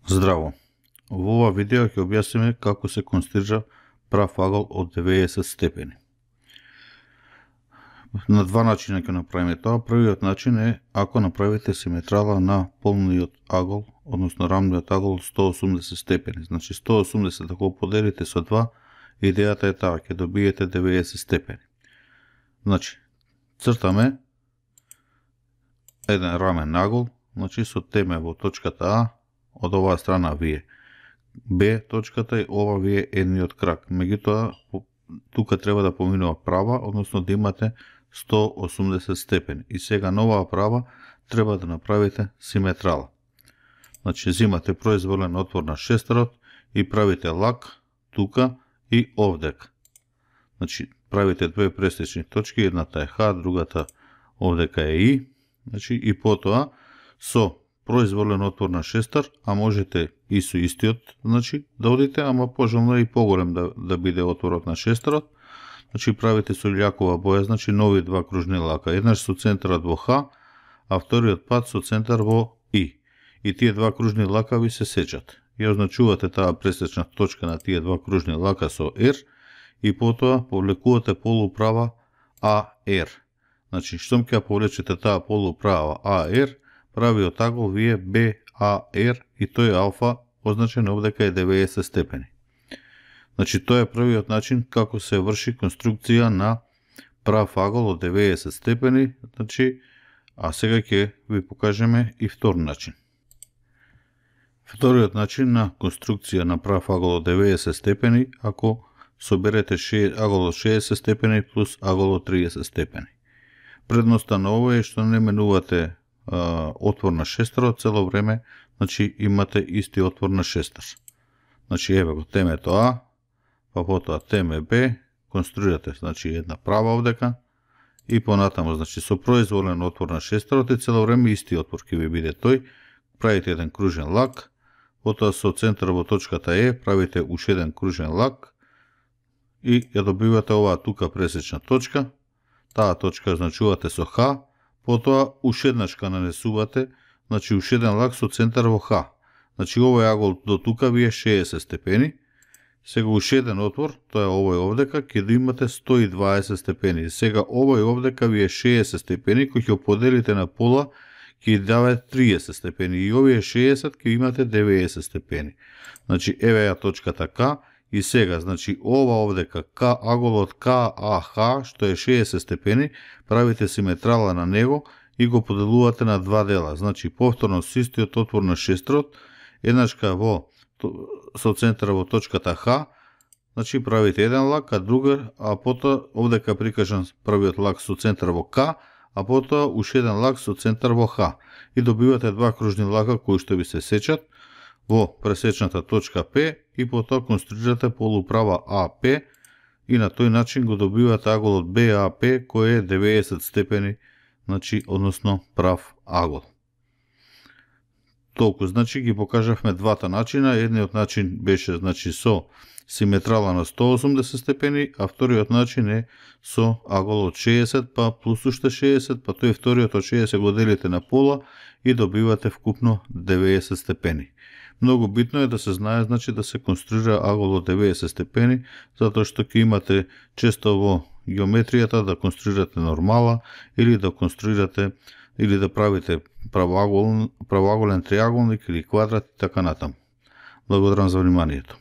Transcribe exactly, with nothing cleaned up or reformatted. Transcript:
Здраво! Во ова видео ќе објасниме како се конструира прав агол од деветдесет степени. На два начина ќе направиме тоа. Првиот начин е ако направите симетрала на полниот агол, односно рамниот агол сто осумдесет степени. Значи сто осумдесет ако поделите со два, идејата е таа, ќе добиете деветдесет степени. Значи, цртаме еден рамен агол, значи со теме во точката А, од оваа страна вие Б точката и ова вие едниот крак. Меѓутоа, тука треба да поминува права, односно да имате сто осумдесет степени. И сега на оваа права треба да направите симетрала. Значи, земате произволен отвор на шестерот и правите лак тука и овдека. Значи, правите две пресечни точки, едната е Х, другата овдека е И. Значи, и потоа со произволен отвор на шестер, а можете и со истиот, значи, да одите, ама пожелно е и поголем да, да биде отворот на шестерот. Значи, правите со љакова боја, значи, нови два кружни лака. Еднаш со центарот во Х, а вториот пат со центар во И. И тие два кружни лака ви се сечат. Ја означувате таа пресечна точка на тие два кружни лака со R и потоа повлекувате полуправа А Р. Значи, штом ќе повлечете таа полуправа А Р, правиот агол вие Б А Р и тој алфа означен овдека е деветдесет степени. Значи, тоа е првиот начин како се врши конструкција на прав агол од деветдесет степени, значи, а сега ќе ви покажеме и втор начин. Вториот начин на конструкција на прав агол од деветдесет степени, ако соберете агол од шеесет степени плюс агол од триесет степени. Предноста на ова е што не менувате а, отвор на шестерот цело време, значи имате исти отвор на шестер. Значи еве го темето А, па потоа теме Б, конструирате значи една права овдека и понатаму значи со произволен отвор на шестерот и цело време исти отвор ќе ви биде тој, правите еден кружен лак, потоа со центар во точката Е правите уште еден кружен лак и ја добивате оваа тука пресечна точка. Таа точка значувате со Х, потоа уште еднаш ка нанесувате, значи уште еден лак со центар во Х. Значи овој агол до тука ви е шеесет степени. Сега уште еден отвор, тоа е овој овдека, ќе да имате сто и дваесет степени. Сега овој овдека ви е шеесет степени, кој ќе поделите на пола, ќе даде триесет степени. И овие шеесет ќе имате деветдесет степени. Значи еве ја точката К. И сега, значи, ова овдека, К, аголот К А Х, што е шеесет степени, правите симетрала на него и го поделувате на два дела. Значи, повторно со истиот отвор на шестерот, еднашка во, со центар во точката Х, значи, правите еден лак, а друга, а потоа, овдека прикажан првиот лак со центар во К, а потоа уште еден лак со центар во Х. И добивате два кружни лака кои што ви се сечат во пресечната точка П и потоа конструирате полуправа А П и на тој начин го добивате аголот Б А П кој е деветдесет степени, значи, односно прав агол. Толку, значи, ги покажавме двата начина. Едниот начин беше, значи, со симетрала на сто осумдесет степени, а вториот начин е со агол од шеесет, па плюс уште шеесет, па тој вториот од шеесет го делите на пола и добивате вкупно деветдесет степени. Многу битно е да се знае, значи, да се конструира агол од деветдесет степени, затоа што ќе имате често во геометријата да конструирате нормала или да конструирате или да правите правоаголен, правоаголен триаголник или квадрат и така натаму. Благодарам за вниманието.